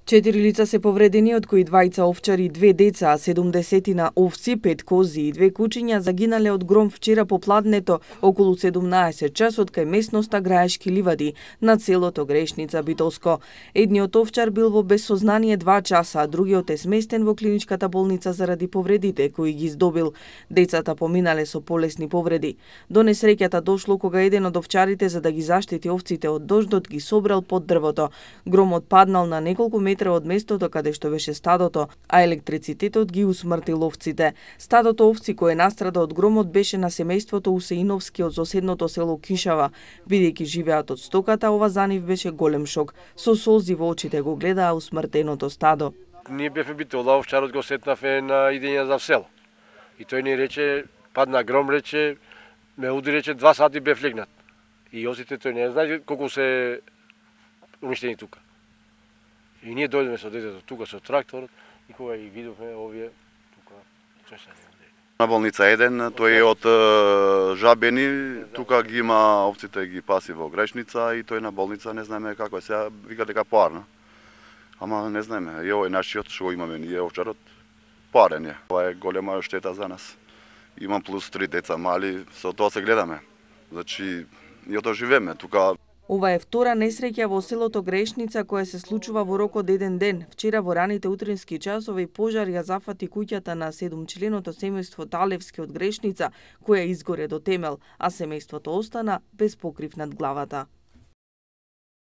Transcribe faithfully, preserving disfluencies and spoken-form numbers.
Четири лица се повредени, од кои двајца овчари и две деца, а седумдесетина овци, пет кози и две кучиња загинале од гром вчера попладнето околу седумнаесет часот кај местноста Граешки ливади на селото Грешница Битолско. Едниот овчар бил во безсознание два часа, а другиот е сместен во клиничката болница заради повредите кои ги здобил. Децата поминале со полесни повреди. До несреќата дошло кога еден од овчарите за да ги заштити овците од дождот ги собрал под дрвото. Громот паднал на неколку метри од местото каде што беше стадото, а електрицитетот ги усмртил овците. Стадото овци кое настрада од громот беше на семејството Усеиновски од соседното село Кишава. Бидејќи живеат од стоката, ова за нив беше голем шок. Со солзи во очите го гледаа усмртеното стадо. Ние бевме битола, овчарот го сетнавме на идење за село. И тој ни рече, падна гром, рече, ме уди, рече, два сати бев легнат. И осите тој не знае колку се уништени тука. И ние дојдеме со детето тука со тракторот и кога ги видовме овие тука чешани. На болница еден, тој е од Жабени, тука ги има овците, ги паси во Грешница и тој на болница не знаеме како е сега, вика дека поарна. Ама не знаеме, и овој нашиот што имаме ние овчарот поарен е. Ова е голема штета за нас. Имам плюс три деца мали, со тоа се гледаме. Значи, ние тоа живееме тука. Ова е втора несреќа во селото Грешница која се случува во рок од еден ден. Вчера во раните утрински часови пожар ја зафати куќата на седумчленото семејство Талевски од Грешница, која изгоре до темел, а семејството остана без покрив над главата.